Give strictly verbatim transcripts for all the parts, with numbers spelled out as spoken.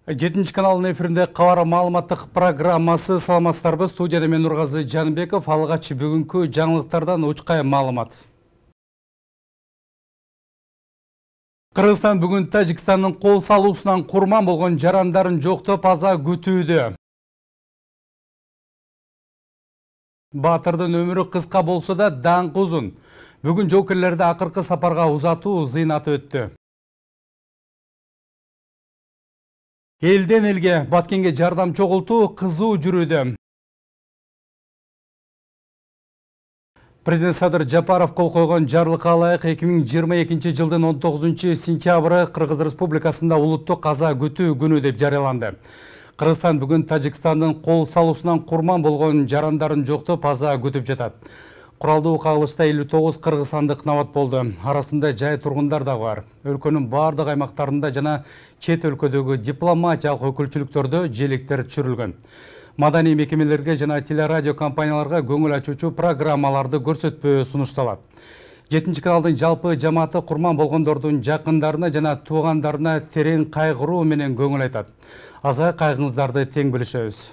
жетинчи каналдын эфиринде кабар маалыматтык программасы. Саламатсыздарбы, студияда мен Нургазы Жанбеков. Алгач бүгүнкү жаңылыктардан учкай маалымат. Кыргызстан бүгүн Тажикстандын кол салуусунан курман болгон жарандарын жоктоп аза күтүүдө. Баатырдын өмүрү кыска болсо да даңкы узун. Бүгүн жоокерлерди акыркы сапарга узатуу зыйнаты өттү. Элден элге Баткенге жардам чогултуу кызуу жүрүүдө. Президент Садыр Жапаров кол койгон жарлыкка ылайык эки миң жыйырма экинчи жылдын он тогузунчу сентябры Кыргыз Республикасында улуттук аза күтүү күнү деп жарыяланды. Кыргызстан бүгүн Тажикстандын кол салуусунан курман болгон жарандарын жоктоп аза күтүп жатат. Куралдуу кагылышта элүү тогуз кыргызстандык набат болду. Арасында жай тургундар да бар. Өлкөнүн бардык аймактарында жана чет өлкөдөгү дипломатиялык өкүлчүлүктөрдө желектер түшүрүлгөн. Маданий мекемелерге жана телерадио компанияларга көңүл ачуучу программаларды көрсөтпөө сунушталат. жетинчи каналдын жалпы жамааты курман болгондордун жакындарына жана туугандарына терең кайгыруу менен көңүл айтат. Аза кайгыңыздарды тең бөлүшөбүз.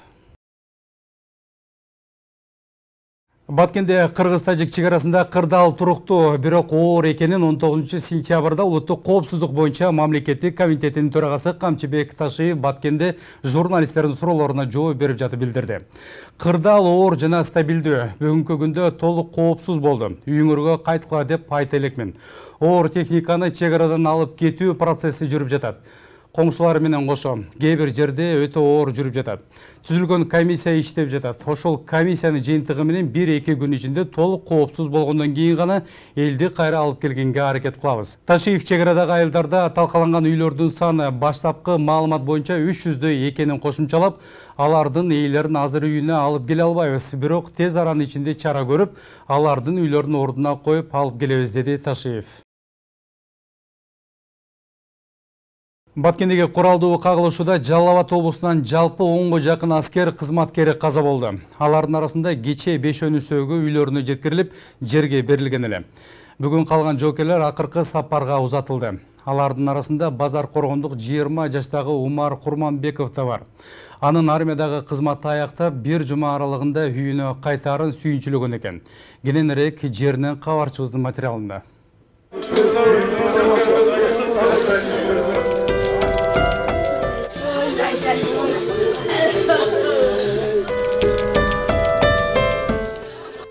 Баткенде Кыргыз-Тажик чегарасында кырдаал туруктуу, бирок оор экенин он тогузунчу сентябрда улуттук коопсуздук боюнча мамлекеттик комитетинин төрагасы Камчыбек Ташиев Баткенде журналисттердин суроолоруна жооп берип жатып билдирди. Кырдаал оор жана стабилдүү, бүгүнкү күндө толук коопсуз болду. Үйүңөргө кайткыла деп айта элекмин. Оор техниканы чегарадан алып кетүү процесси жүрүп жатат. Коңшулары менен кошо кээ бир жерде өтө оор жүрүп жатат. Түзүлгөн комиссия иштеп жатат. Ошол комиссиянын жыйынтыгы менен бир эки күн ичинде толук коопсуз болгондон кийин гана элди кайра алып келгенге аракет кылабыз. Ташиев чегарадагы айылдарда талкаланган үйлөрдүн саны баштапкы маалымат боюнча үч жүздөй экенин кошумчалап, алардын ээлерин азыр үйүнө алып келе албайбыз. Бирок тез аранын ичинде чара көрүп, алардын үйлөрүн ордуна коюп алып келебиз, деди Ташиев. Баткендеги куралдуу кагылышууда Жалал Абад облусунан жалпы онго жакын аскер кызматкери каза болду. Алардын арасында кечээ бешөөнүсөгү үйлөрүнө жеткирилип, жерге берилген эле. Бүгүн калган жоокерлер акыркы сапарга узатылды. Алардын арасында базар коргондук жыйырма жаштагы Умар Курманбеков да бар. Анын армиядагы кызматы аяктап, бир жума аралыгында үйүнө кайтаарын сүйүнчүлөгөн экен. Кененирээк жеринен кабарчыбыздын материалында.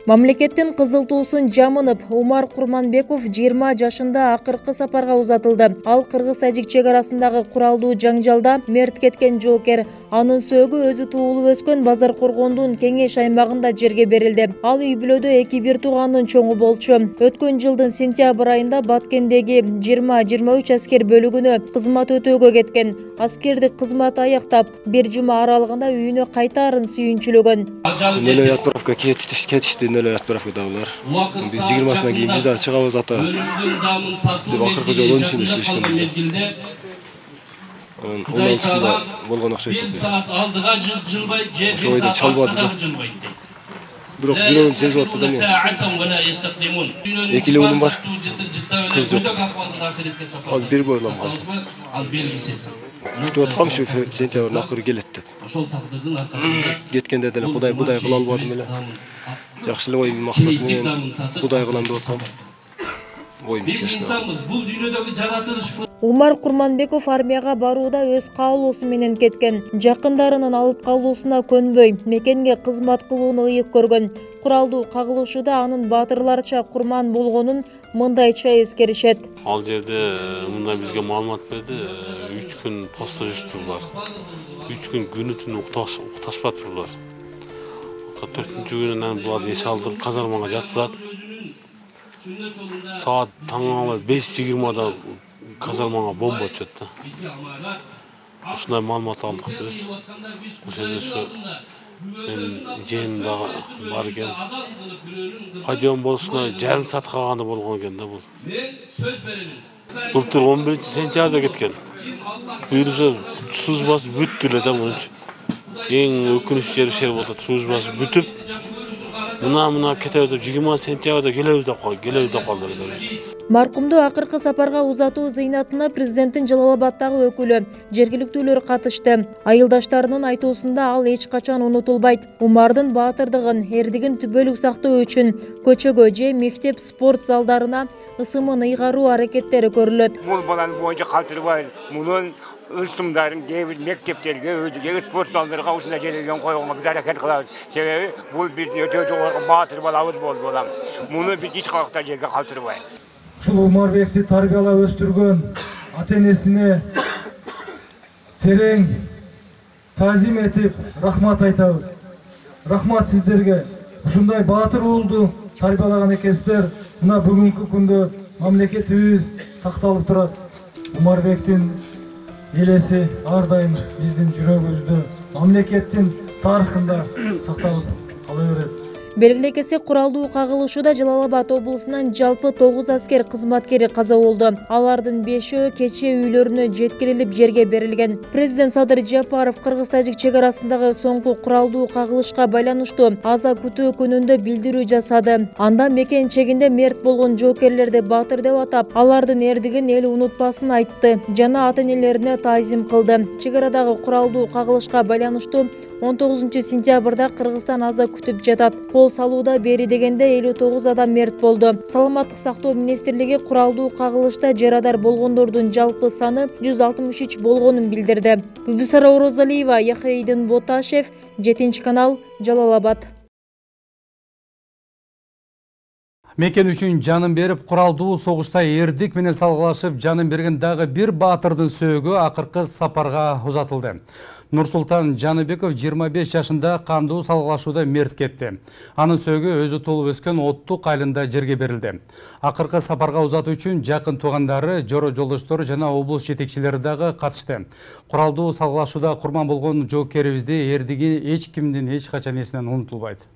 Мамлекеттин кызыл туусун жамынып, Умар Курманбеков жыйырма жашында акыркы сапарга узатылды. Ал Кыргыз-Тажик чегарасындагы куралдуу жаңжалда мерт кеткен жоокер. Анын сөөгү өзү туулуп өскөн Базар Коргондун кеңеш аймагында жерге берилди. Ал үй бүлөдө эки бир туугандын чоңу болчу. Өткөн жылдын сентябрь айында Баткендеги жыйырма жыйырма үч аскер бөлүгүнө кызмат өтөөгө кеткен. Аскердик кызматы аяктап, бир жума аралыгында үйүнө кайтаарын сүйүнчүлөгөн. Нөлөй отправка кетишти, нөлөй отправкадагылар. Биз жыйырмасынан кийин биз дагы чыгабыз ата. Деп акыркы жолу он үчүндө чыгышкан. он алтысында болгон окшойт. Ошол бойдон чалбады да. Бирок жүрөгүм сезип атты да мен. Эки эле уулум бар. Кыз жок. Ал бир бойлам калды. Күтүп аткам ушу сентябрдын акыры келет деп. Кеткенде деле Кудай Кудай кыла албадым эле. Жакшы эле ой максат менен Кудай кылам деп аткам. Оюм ишке ашпады. Умар Курманбеков армияга барууда өз каалоосу менен кеткен. Жакындарынын алып калуусуна көнбөй, мекенге кызмат кылууну ыйык көргөн. Куралдуу кагылышууда анын баатырларча курман болгонун мындайча эскеришет. Ал жерде мындай бизге маалымат берди. үч күн постто жүрүштүр. үч күн күнү түнү укташпадылар. төртүнчү күнүнөн буларды эс алдырып казармага жаткызат. Саат таңалы беш жыйырмада казармага бомба түшөт да. Ушундай маалымат алдык биз. Ошол жерде ушу мен жээним дагы бар экен. Кайдон болушуна жарым саат калганда болгон экен да бул. Былтыр он биринчи сентябрда кеткен. Бул службасы бүттү эле да мынча. Эң өкүнүчтүү жери ошол болду. Службасы бүтүп, мына мына кетебиз деп жыйырма сентябрда келебиз деп кой келебиз деп калдыр. Маркумду акыркы сапарга узатуу зыйнатына президенттин Жалал Абаддагы өкүлү, жергиликтүүлөр катышты. Айылдаштарынын айтуусунда ал эч качан унутулбайт. Умардын баатырдыгын, эрдигин түбөлүк сактоо үчүн көчөгө же мектеп спорт залдарына ысымын ыйгаруу аракеттери көрүлөт. Бул баланы боюнча калтырбай, мунун ысымдарын кээ мектептерге, өзүгө спорт залдарга ушундай жерлерге койгонго биз аракет кылабыз. Себеби бул биздин өтө жогорку баатыр балабыз болду балам. Муну биз эч кайда жерге калтырбайбыз. Ушул Умарбекти тарбиялап өстүргөн ата-энесине терең таазим этип рахмат айтабыз. Рахмат сиздерге. Ушундай баатыр уулду тарбиялаган экенсиздер. Мына бүгүнкү күндө мамлекетибиз сакталып турат. Умарбектин элеси ар дайым биздин жүрөгүбүздө, мамлекеттин тарыхында сакталып кала берет. Белгилей кетсек, куралдуу кагылышууда Жалал Абад облусунан жалпы тогуз аскер кызматкери каза болду. Алардын бешөө кечээ үйлөрүнө жеткирилип жерге берилген. Президент Садыр Жапаров кыргыз-тажик чек арасындагы соңку куралдуу кагылышка байланыштуу аза күтүү күнүндө билдирүү жасады. Анда мекен чегинде мерт болгон жоокерлерди баатыр деп атап, алардын эрдигин эл унутпасын айтты жана ата-энелерине таазим кылды. Чек арадагы куралдуу кагылышка байланыштуу он тогузунчу сентябрда Кыргызстан аза күтүп жатат. Кол салууда бери дегенде элүү тогуз адам мерт болду. Саламаттык сактоо министрлиги куралдуу кагылышта жарадар болгондордун жалпы саны жүз алтымыш үч болгонун билдирди. Бүбүсара Орозалиева, Яхейдин Боташев, жетинчи канал, Жалал Абад. Мекен үчүн жанын берип, куралдуу согушта эрдик менен салгылашып жанын берген дагы бир баатырдын сөөгү акыркы сапарга узатылды. Нурсултан Жаныбеков жыйырма беш жашында кандуу салгылашууда мерт кетти. Анын сөөгү өзү туулуп өскөн Оттук айылында жерге берилди. Акыркы сапарга узатуу үчүн жакын туугандары, жора жолдоштору жана облус жетекчилери дагы катышты. Куралдуу салгылашууда курман болгон жоокерибизди эрдиги эч кимдин эч качан эсинен унутулбайт.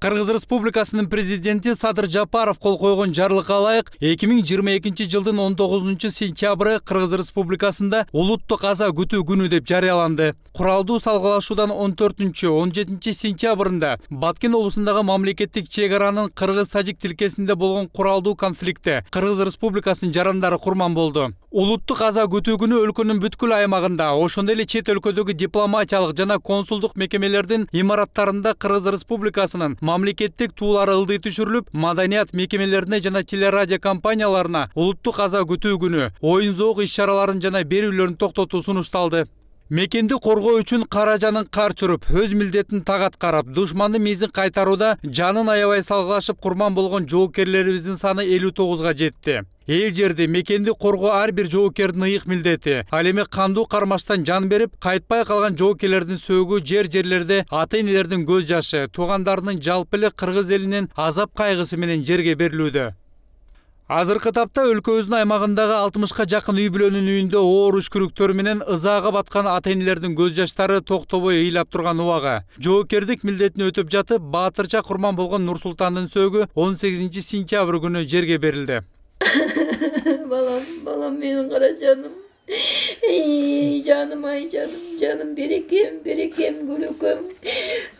Кыргыз Республикасынын президенти Садыр Жапаров кол койгон жарлыкка ылайык эки миң жыйырма экинчи жылдын он тогузунчу сентябры Кыргыз Республикасында улуттук аза күтүү күнү деп жарыяланды. Куралдуу салгылашуудан он төртүнчү он жетинчи сентябрында Баткен облусундагы мамлекеттик чек аранын кыргыз-тажик тилкесинде болгон куралдуу конфликтте Кыргыз Республикасынын жарандары курман болду. Улуттук аза күтүү күнү өлкөнүн бүткүл аймагында, ошондой эле чет өлкөдөгү дипломатиялык жана консулдук мекемелердин имараттарында Кыргыз Республикасынын мамлекеттик туулары ылдый түшүрүлүп, маданият мекемелерине жана телерадио компанияларына улуттук аза күтүү күнү оюн зоок иш-чараларын жана берүүлөрүн токтотуу сунушталды. Мекенди коргоо үчүн кара жанын кар чуруп, өз милдетин так аткарып, душмандын мезин кайтарууда жанын аябай салгылашып курман болгон жоокерлерибиздин саны элүү тогузга жетти. Эл жерди мекенди коргоо ар бир жоокердин ыйык милдети. Ал эми кандуу кармаштан жан берип, кайтпай калган жоокерлердин сөөгү жер-жерлерде ата-энелердин көз жашы, туугандарынын жалпы эле кыргыз элинин азап кайгысы менен жерге берилүүдө. Азыркы тапта өлкөбүздүн аймагындагы алтымышка жакын үй бүлөнүн үйүндө оор үшкүрүктөр менен ызаага баткан ата-энелердин көз жаштары токтобой ыйлап турган убагы. Жоокердик милдетин өтүп жатып, баатырча курман болгон Нурсултандын сөөгү он сегизинчи сентябрь күнү жерге берилди. Балам, балам менин кара жаным. Ey canım ay canım canım берекем берекем гүлөкөм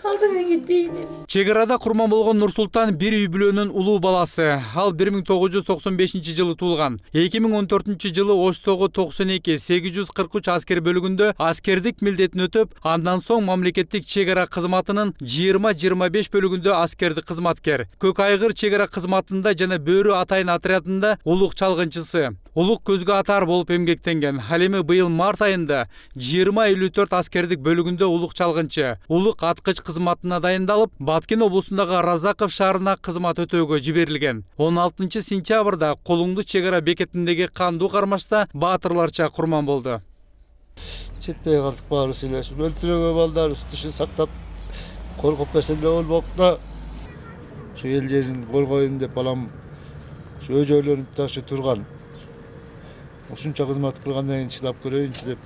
алдыңа кетейин. Чек арада курман болгон Нурсултан бир үй бүлөнүн улуу баласы. Ал бир миң тогуз жүз токсон бешинчи жылы туулган. эки миң он төртүнчү жылы Оштогу токсон эки сегиз жүз кырк үч аскер бөлүгүндө аскердик милдетин өтөп, андан соң мамлекеттик чек ара кызматынын жыйырма жыйырма беш бөлүгүндө аскердик кызматкер. Көк айгыр чек ара кызматында жана Бөрү атайын отрядында улук чалгынчысы, улук көзгө атар болуп эмгектенген. Ал эми быйыл март айында жыйырма элүү төрт аскердик бөлүгүндө улук чалгынчы, улук аткыч кызматына дайындалып, Баткен облусундагы Разаков шаарына кызмат өтөөгө жиберилген. он алтынчы сентябрда Колуңду чек ара бекетиндеги кандуу кармашта баатырларча курман болду. Жетпей калдык баарыбыз эле. Өлтүрөгө балдарыбыз тишин сактап, коргоп берсе эле болуп да. Şu эл жерин коргойм деп балам şu өжөлөнүп ташы турган. Ушунча кызмат кылгандан кийин чыдап көрөйүнчү деп.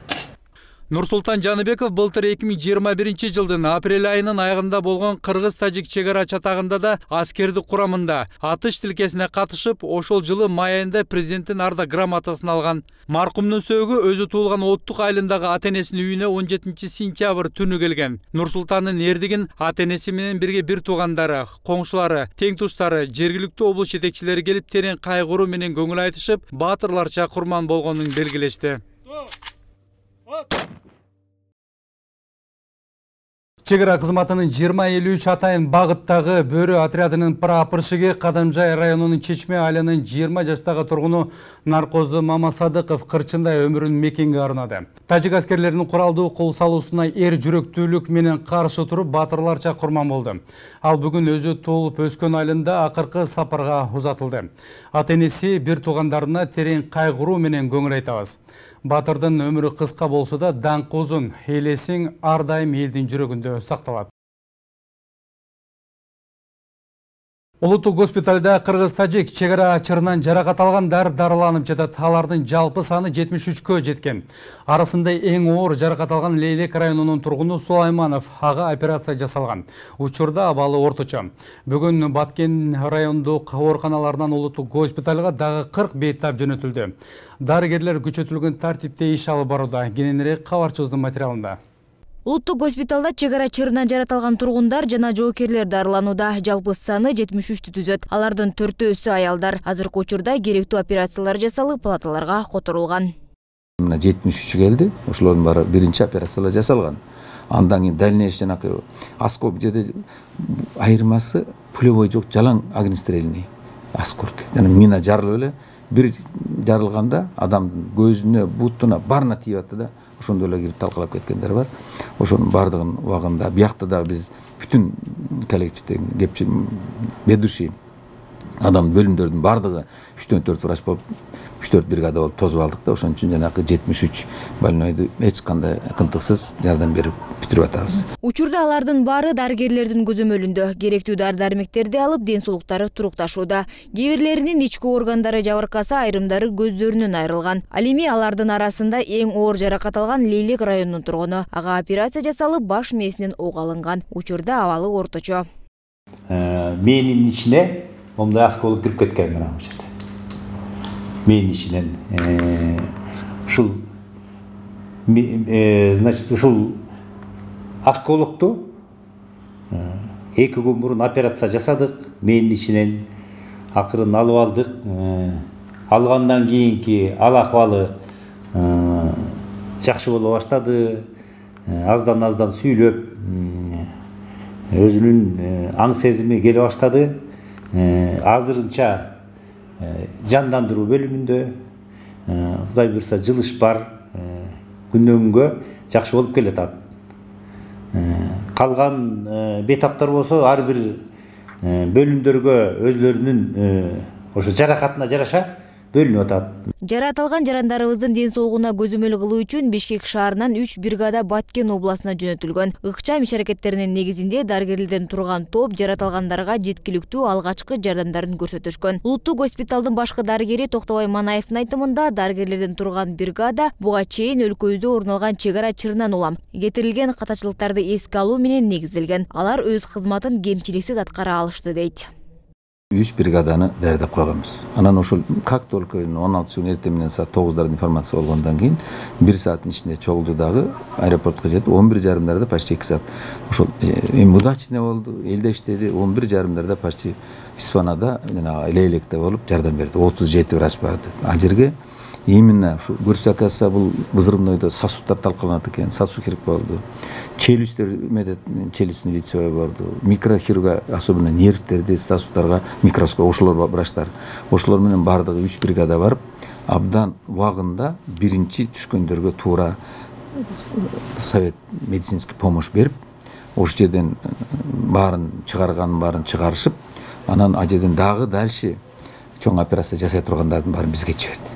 Нурсултан Жаныбеков былтыр эки миң жыйырма биринчи жылдын апрель айынын аягында болгон кыргыз-тажик чегара чатагында да аскердик курамында атыш тилкесине катышып, ошол жылы май айында президенттин Арда грамотасын алган. Маркумдун сөөгү өзү туулган Оттук айылындагы ата-энесинин үйүнө он жетинчи сентябрь түнү келген. Нурсултандын эрдигин ата-энеси менен бирге бир туугандары, коңшулары, тең туштары, жергиликтүү облус жетекчилери келип терең кайгыруу менен көңүл айтышып, баатырларча курман болгонун белгилешти. Чегара кызматынын жыйырма элүү үч атайын багыттагы бөрү отрядынын прапорщиги Кадамжай районунун Чечме айылынын жыйырма жаштагы тургуну Наркозу Мамасадыков кырчындай өмүрүн мекенге арнады. Тажик аскерлеринин куралдуу кол салуусуна эр жүрөктүүлүк менен каршы туруп баатырларча курман болду. Ал бүгүн өзү туулуп өскөн айылында акыркы сапарга узатылды. Ата-энеси бир туугандарына терең кайгыруу менен көңүл айтабыз. Батырдын өмүрү кыска болсо да даңкы узун, элесиң ар дайым элдин жүрөгүндө сакталат. Улуттук госпиталда кыргыз-тажик чегара чырынан жаракат алгандар дарыланып жатат. Алардын жалпы саны жетимиш үчкө жеткен. Арасында эң оор жаракат алган Лейлек районунун тургуну Сулайманов, ага операция жасалган. Учурда абалы орточо. Бүгүн Баткен райондук ооруканаларынан улуттук госпиталга дагы кырк бейтап жөнөтүлдү. Дарыгерлер күчөтүлгөн тартипте иш алып барууда. Кененирээк кабарчыбыздын материалында. Улуттук госпиталда чегара чырынан жаратылган тургундар жана жоокерлер дарыланууда. Жалпы саны жетимиш үчтү түзөт. Алардын төртөөсү аялдар. Азыркы учурда керектүү операциялар жасалып, палаталарга которулган. Мына жетимиш үч келди. Ошолордун баары биринчи операциялар жасалган. Андан кийин дальнейший жанакы осколок жерде айырмасы пулевой жок, жалаң огнестрельный осколок. Жана мина жарылып эле бир жарылганда адамдын көзүнө, бутуна, барына тийип атты да. Ошондо эле кирип талкалап кеткендер бар. Ошонун бардыгын убагында биякта дагы биз бүтүн коллективдеги кепчи ведущий адам бөлүмдөрдүн бардыгы үчтөн төрт врач болуп, үч төрт бригада болуп тосуп алдык да. Ошон үчүн жанакы жетимиш үч больнойду эч кандай кынтыксыз жардам берип бүтүрүп атабыз. Учурда алардын баары дарыгерлердин көзөмөлүндө. Керектүү дары-дармектерди алып, ден соолуктары турукташууда. Кээ бирлеринин ички органдары жабыркаса, айрымдары көздөрүнөн айрылган. Ал эми алардын арасында эң оор жаракат алган Лейлек районунун тургуну. Ага операция жасалып, баш мээсинен ок алынган. Учурда абалы орточо. Мээнин ичине момундай осколок кирип кеткен мына бул жерде. Мээнин ичинен ушул значит ушул осколокту эки күн мурун операция жасадык. Мээнин ичинен акырын алып алдык. Алгандан кийинки ал акыбалы жакшы боло баштады. Аздан аздан сүйлөп, өзүнүн аң сезими келе баштады. Азырынча жандандыруу бөлүмүндө, Кудай буйрса жылыш бар. Күндөн күнгө жакшы болуп келатат. Калган бейтаптар болсо ар бир бөлүмдөргө өзлөрүнүн ошо жаракатына жараша бөлүнүп атат. Жаратылган жарандарыбыздын ден соолугуна көзөмөл кылуу үчүн Бишкек шаарынан үч бригада Баткен областына жөнөтүлгөн. Ыкчам иш-аракеттеринин негизинде дарыгерлерден турган топ жаратылгандарга жеткиликтүү алгачкы жардамдарын көрсөтүшкөн. Улуттук госпиталдын башкы дарыгери Токтобай Манаевдин айтымында, дарыгерлерден турган бригада буга чейин өлкөбүздө орун алган чегара чырынан улам кетирилген катачылыктарды эске алуу менен негизделген. Алар өз кызматын кемчиликсиз аткара алышты дейт. үч бригаданы даярдап койгонбуз. Анан ошол как только он алтынчы күнү эртең менен саат тогуздарда информация болгондон кийин бир сааттын ичинде чогулду дагы аэропортко жетип, он бир жарымдарда почти эки саат. Ошол эми удачный болду, элде иштеди. он бир жарымдарда почти Испанада, жана Лейлекте болуп жардам берди. отуз жети врач барды. Ал жерге именно ушу көрсө оказывается бул взрывнойдо сосуддар талкаланат экен, сосуд керек болду. Челюсттер медет, челюстный лицевой болду. Микрохирурга, особенно нервтерди, сосуддарга микроскоп, ошолор врачтар. Ошолор менен бардыгы үч бригада барып, абдан убагында биринчи түшкөндөргө туура совет медицинский помощь берип, ошол жерден баарын чыгарганын баарын чыгарышып, анан ал жерден дагы дальше чоң операция жасай тургандардын баарын бизге жиберди.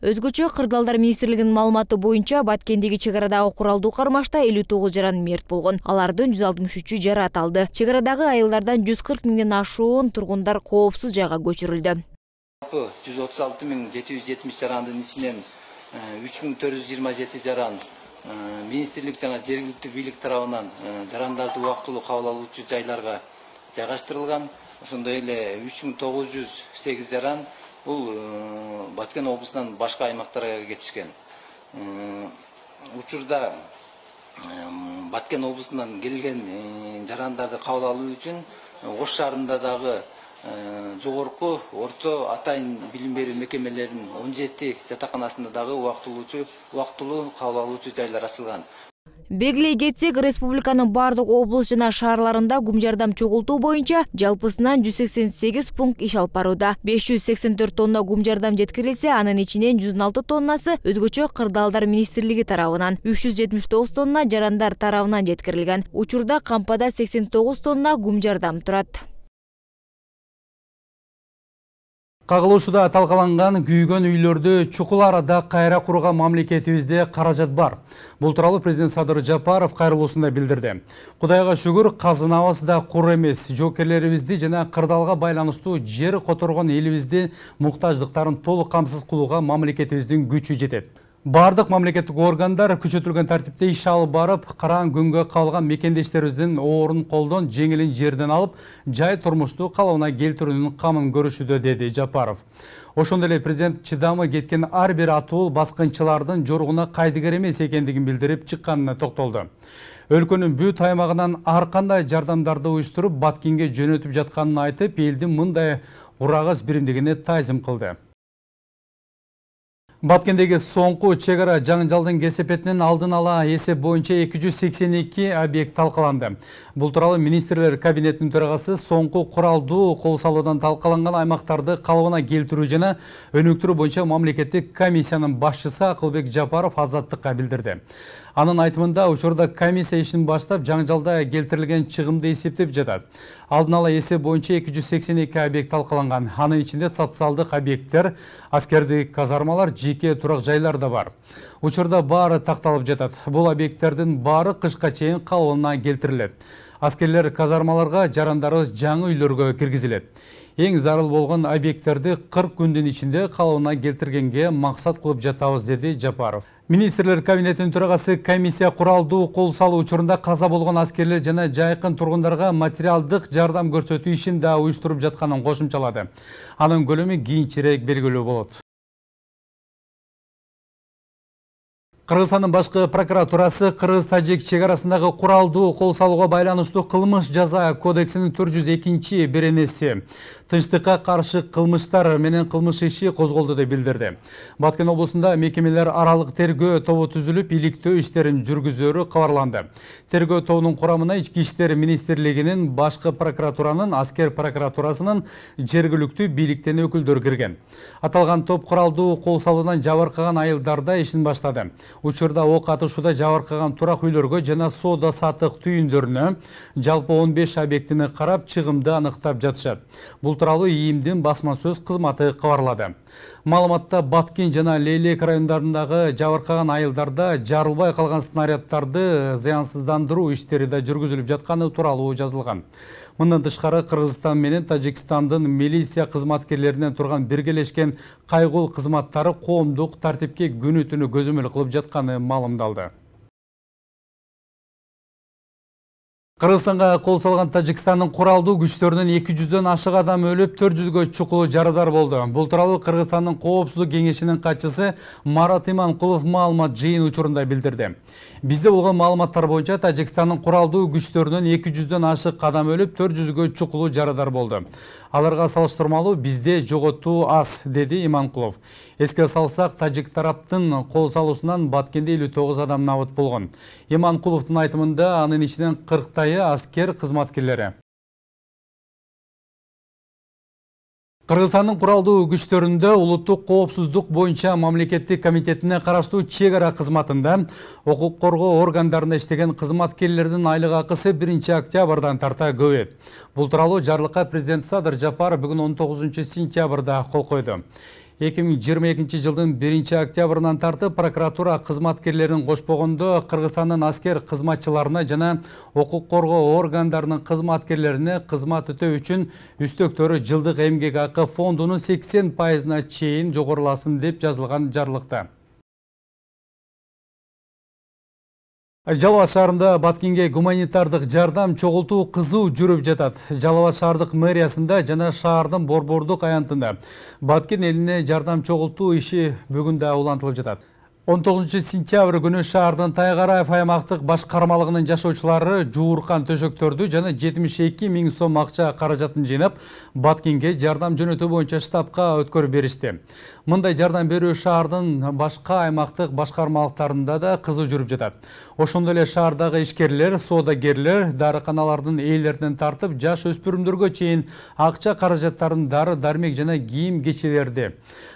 Өзгөчө Кырдаалдар министрлигинин маалыматы боюнча Баткендеги чегарадагы куралдуу кармашта элүү тогуз жаран мерт болгон. Алардын жүз алтымыш үчү жарат алды. Чегарадагы айылдардан жүз кырк миңден ашуун тургундар коопсуз жайга көчүрүлдү. жүз отуз алты миң жети жүз жетимиш жарандын ичинен үч миң төрт жүз жыйырма жети жаран министрлик жана жергиликтүү бийлик тарабынан жарандарды убактылуу кабыл алуучу жайларга жайгаштырылган. Ошондой эле үч миң тогуз жүз сегиз жаран бул Баткен облусунан башка аймактарга кетишкен. Учурда Баткен облусунан келген жарандарды кабыл алуу үчүн Ош шаарында дагы жогорку, орто, атайын билим берүү мекемелеринин он жети жатаканасында дагы убактылуучу, убактылуу кабыл алуучу жайлар ачылган. Белгилей кетсек, республиканын бардык облус жана шаарларында гум жардам чогултуу боюнча жалпысынан жүз сексен сегиз пункт иш алып барууда. беш жүз сексен төрт тонна гум жардам жеткирилсе, анын ичинен жүз он алты тоннасы өзгөчө кырдаалдар министрлиги тарабынан, үч жүз жетимиш тогуз тонна жарандар тарабынан жеткирилген. Учурда кампада сексен тогуз тонна гум жардам турат. Кагылышууда талкаланган күйгөн үйлөрдү чукул арада кайра курууга мамлекетибизде каражат бар. Бул тууралуу президент Садыр Жапаров кайрылуусунда билдирди. Кудайга шүгүр, казынабыз да кур эмес. Жоокерлерибизди жана кырдаалга байланыштуу жер которгон элибизди муктаждыктарын толук камсыз кылууга мамлекетибиздин күчү жетет. Бардык мамлекеттик органдар күчөтүлгөн тартипте иш алып барып, караң күнгө калган мекендештерибиздин оорун колдон, жеңилин жерден алып, жай турмушту калыбына келтирүүнүн камын көрүшүүдө, деди Жапаров. Ошондой эле президент чыдамы кеткен ар бир атуу баскынчылардын жоругуна кайдыгер эмес экендигин билдирип чыкканына токтолду. Өлкөнүн бүт аймагынан ар кандай жардамдарды уюштуруп, Баткенге жөнөтүп жатканын айтып, элдин мындай урагыс биримдигине таазим кылды. Баткендеги соңку чек ара жаңжалдын кесепетинин алдын ала эсеп боюнча эки жүз сексен эки объект талкаланды. Бул тууралуу министрлер кабинетинин төрагасы соңку куралдуу кол салуудан талкаланган аймактарды калыбына келтирүү жана өнүктүрүү боюнча мамлекеттик комиссиянын башчысы Акылбек Жапаров Азаттыкка билдирди. Анын айтымында учурда комиссия ишин баштап, жаңжалда келтирилген чыгымды эсептеп жатат. Алдын ала эсеп боюнча эки жүз сексен эки объект талкаланган. Анын ичинде социалдык объекттер, аскердик казармалар, жеке турак жайлар да бар. Учурда баары такталып жатат. Бул объекттердин баары кышка чейин калыбына келтирилет. Аскерлер казармаларга, жарандарыбыз жаңы үйлөргө киргизилет. Эң зарыл болгон объекттерди кырк күндүн ичинде калыбына келтиргенге максат кылып жатабыз, деди Жапаров. Министрлер кабинетинин төрагасы комиссия куралдуу кол салуу учурунда каза болгон аскерлер жана жайкын тургундарга материалдык жардам көрсөтүү ишин да уюштуруп жатканын кошумчалады. Анын көлөмү кийинчерээк белгилүү болот. Кыргызстандын башкы прокуратурасы кыргыз-тажик чек арасындагы куралдуу кол салууга байланыштуу кылмыш жаза кодексинин төрт жүз экинчи беренеси тынчтыкка каршы кылмыштар менен кылмыш иши козголду деп билдирди. Баткен облусунда мекемелер аралык тергөө тобу түзүлүп, иликтөө иштерин жүргүзөрү кабарланды. Тергөө тобунун курамына Ички иштер министрлигинин, башкы прокуратуранын, аскер прокуратурасынын, жергиликтүү бийликтен өкүлдөр кирген. Аталган топ куралдуу кол салуудан жабыркаган айылдарда ишин баштады. Учурда ок атышууда жабыркаган турак үйлөргө жана соода саттык түйүндөрүнө жалпы он беш объектини карап, чыгымды аныктап жатышат. Бул тууралуу ИИМдин басма сөз кызматы кабарлады. Маалыматта Баткен жана Лейлек райондарындагы жабыркаган айылдарда жарылбай калган снаряддарды зыянсыздандыруу иштери да жүргүзүлүп жатканы тууралуу жазылган. Мындан тышкары Кыргызстан менен Тажикстандын милиция кызматкерлеринен турган биргелешкен кайгыл кызматтары коомдук тартипке күнү түнү көзөмөл кылып жатканы маалымдалды. Кыргызстанга кол салган Тажикстандын куралдуу күчтөрүнүн эки жүздөн ашык адам өлүп, төрт жүзгө чукулу жарадар болду. Бул тууралуу Кыргызстандын коопсуздук кеңешинин катчысы Марат Иманкулов маалымат жыйын учурунда билдирди. Бизде болгон маалыматтар боюнча Тажикстандын куралдуу күчтөрүнүн эки жүздөн ашык адам өлүп, төрт жүзгө чукулу жарадар болду. Аларга салыштырмалуу бизде жоготуу аз, деди Иманкулов. Эске салсак, тажик тараптын кол салуусунан Баткенде элүү тогуз адам набыт болгон. Иманкуловдун айтымында анын ичинен кырктайы аскер кызматкерлери. Кыргызстандын куралдуу күчтөрүндө улуттук коопсуздук боюнча мамлекеттик комитетине караштуу чек ара кызматында укук коргоо органдарында иштеген кызматкерлердин айлык акысы биринчи октябрдан тарта көбөйөт. Бул тууралуу жарлыкка президент Садыр Жапаров бүгүн он тогузунчу сентябрда кол койду. эки миң жыйырма экинчи жылдын биринчи октябрынан тартып прокуратура кызматкерлерин кошпогондо Кыргызстандын аскер кызматчыларына жана укук коргоо органдарынын кызматкерлерине кызмат өтөө үчүн үстөктөрү жылдык эмгек акы фондунун сексен пайызына чейин жогоруласын деп жазылган жарлыкта. Жалал Абад шаарында Баткенге гуманитардык жардам чогултуу кызуу жүрүп жатат. Жалал Абад шаардык мэриясында жана шаардын борбордук аянтында Баткен элине жардам чогултуу иши бүгүн да улантылып жатат. он тогузунчу сентябрь күнү шаардын Тайгараев аймактык башкармалыгынын жашоочулары жууркан төшөктөрдү жана жетимиш эки миң сом акча каражатын жыйнап Баткенге жардам жөнөтүү боюнча штабка өткөрүп беришти. Мындай жардам берүү шаардын башка аймактык башкармалыктарында да кызуу жүрүп жатат. Ошондой эле шаардагы ишкерлер, соодагерлер дарыканалардын ээлеринен тартып жаш өспүрүмдөргө чейин акча каражаттарын дары дармек жана кийим кечелерди,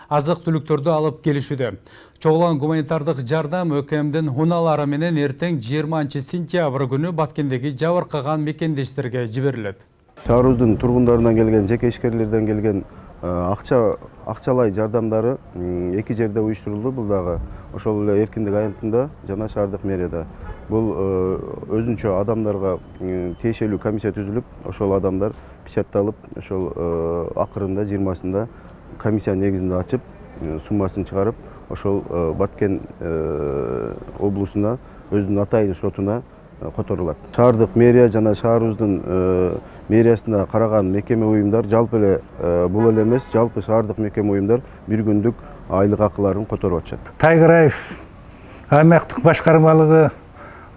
азык түлүктөрдү алып келишүүдө. Чогулган гуманитардык жардам ÖKMдин унаалары менен эртең жыйырманчы сентябрь күнү Баткендеги жабыркаган мекендештерге жиберилет. Шаарыбыздын тургундарынан келген, жеке ишкерлерден келген акча акчалай жардамдары эки жерде уюштурулду. Бул дагы ошол эле эркиндик аянтында жана шаардык мэрияда. Бул өзүнчө адамдарга тиешелүү комиссия түзүлүп, ошол адамдар печатталып, ошол акырында жыйырмасында комиссия негизинде ачып, суммасын чыгарып, ошол Баткен облусуна өзүнүн атайын шотуна которулат. Шаардык мэрия жана шаарыбыздын мэриясына караган мекеме уюмдар жалпы эле бул эле эмес, жалпы шаардык мекеме уюмдар бир күндүк айлык акыларын которуп атышат. Тайгараев аймактык башкармалыгы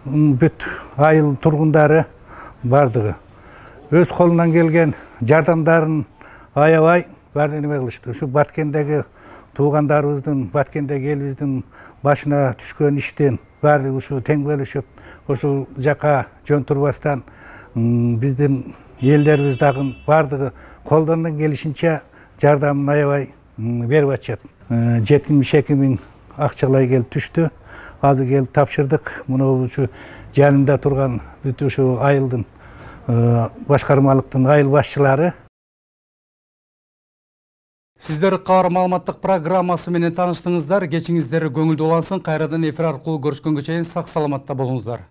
бүт айыл тургундары бардыгы өз колунан келген жардамдарын аябай баары неме кылышты. Ушу Баткендеги туугандарыбыздын, Баткендеги элибиздин башына түшкөн иштен баардыгы ушу тең бөлүшүп, ошол жака жөн турбастан биздин элдерибиз дагы баардыгы колдорунан келишинче жардамын аябай берип атышат. жетимиш эки миң акчалай келип түштү. Азыр келип тапшырдык. Муну ушу жанымда турган бүт ушу айылдын башкармалыктын айыл башчылары. Сиздер кабар маалыматтык программасы менен тааныштыңыздар. Кечиңиздер көңүлдүү улансын. Кайрадан эфир аркылуу көрүшкөнгө чейин сак саламатта болуңуздар.